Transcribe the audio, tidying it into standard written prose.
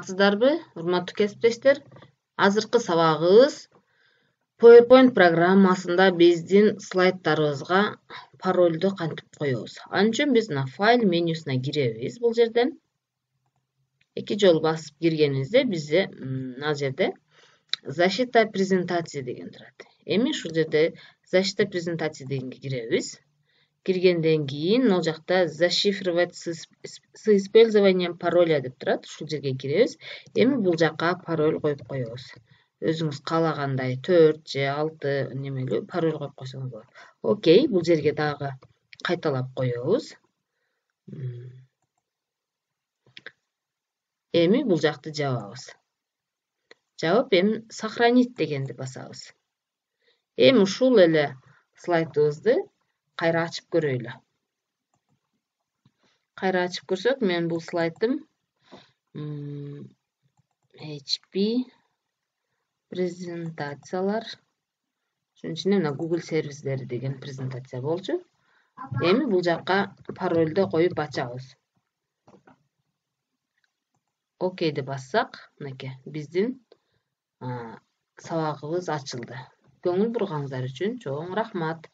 саламатсыздарбы, урматтуу кесиптештер? Азыркы сабагыбыз PowerPoint программасында биздин слайддарыбызга паролду кантип коебуз. Ал үчүн биз мына файл менюсуна киребиз. Бул жерден эки жолу басып киргенибизде бизде мына жерде защита презентации деген турат. Эми ушул жерде защита презентации дегенге киребиз. Киргенден кийин могул жакта зашифровать с использованием пароля деп турат. Ушул жерге киребиз. Эми бул жакка пароль коюп коебуз. Өзүңүз каалагандай 4 же 6 немелүү пароль коюп койсоңуз болот. Окей, бул жерге дагы кайталап коебуз. Эми бул жакты жабабыз. Жабып, эми сохранить дегенди басабыз. Эми ушул эле слайдыбызды кайра ачып көрөйлү. Кайра ачып көрсөк, мен бул слайдым HP презентациялар. Ошонун ичинде мына Google сервистери деген презентация болчу. Эми бул жакка парольду коюп ачабыз. Окейди бассак, мынакей биздин сабагыбыз ачылды. Көңүл бурганыңыздар үчүн чоң рахмат.